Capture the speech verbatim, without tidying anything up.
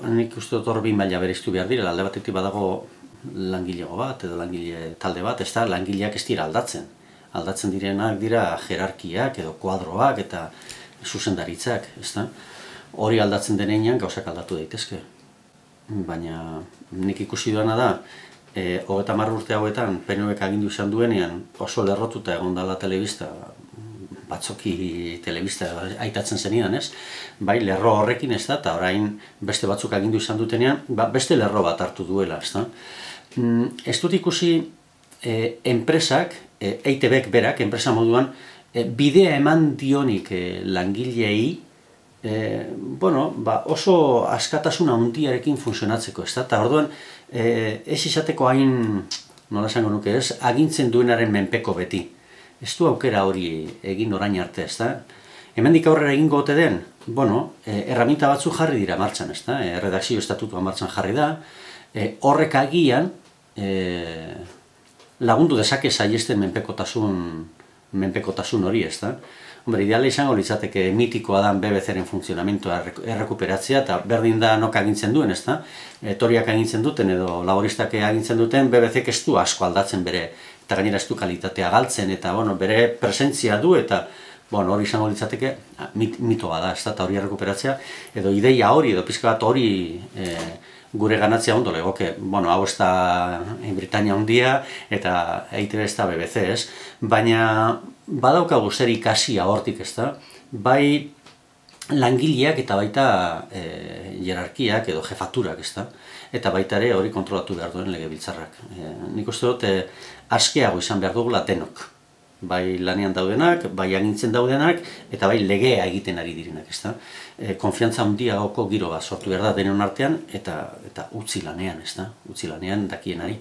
nik uste dut hor bi maila bereiztu behar direla, alde batetik badago langilego bat edo langile talde bat, ez da langileak ez dira aldatzen. Aldatzen direnak dira jerarkiak edo kuadroak eta zuzendaritzak, ez da? Hori aldatzen denean gauzak aldatu daitezke. Baina nik ikusi duena da, e, hogeita hamar urte hauetan P N Vk agindu izan duenean oso lerrotuta egon dela telebista, batzoki telebista aitatzen zenidan, ez? Bai, lerro horrekin ez da, eta orain beste batzuk agindu izan dutenean, ba, beste lerro bat hartu duela, ez da? Mm, ez dut ikusi e, enpresak, e, E I T Bk berak, enpresa moduan, e, bidea eman dionik e, langilei, e, bueno, ba, oso askatasun handiarekin funtzionatzeko, ez da? Eta orduan, e, ez izateko hain, nola esango nuke ez, agintzen duenaren menpeko beti. Ez du aukera hori egin orain arte, ez da? Hemendik aurrera egingo ote den, bueno, e, erraminta batzu jarri dira martxan, ez da? E, redakzio estatutua martxan jarri da, e, horrek agian e, lagundu dezake saihesten menpekotasun, menpekotasun hori, ez da? Hombre, ideala izango litzateke mitikoa dan B B C-ren funtzionamentoa errekuperatzea, eta berdin da nok agintzen duen, ez da? Etoriak agintzen duten edo laboristak agintzen duten, B B C-k ez du asko aldatzen bere, eta gainera ez du kalitatea galtzen, eta bueno, bere presentzia du, eta bueno, hori izango litzateke mit, mitoa da, ez da, eta hori errekuperatzea, edo ideia hori, edo pizka bat hori e, gure ganatzea ondo legoke. Bueno, hau ez da Britania handia, eta E I T B ez da B B C, ez? Baina badaukagu zer ikasia hortik, ez da? Bai langileak eta baita e, jerarkiak edo jefaturak, ez da? Eta baita ere hori kontrolatu behar duen legebiltzarrak. E, nik uste dut, e, askeago izan behar dugula denok. Bai lanean daudenak, bai agintzen daudenak, eta bai legea egiten ari direnak, ez da? E, konfiantza handiagoko giro bat sortu behar da denon artean, eta, eta utzi lanean, ez da? Utzi lanean dakienari.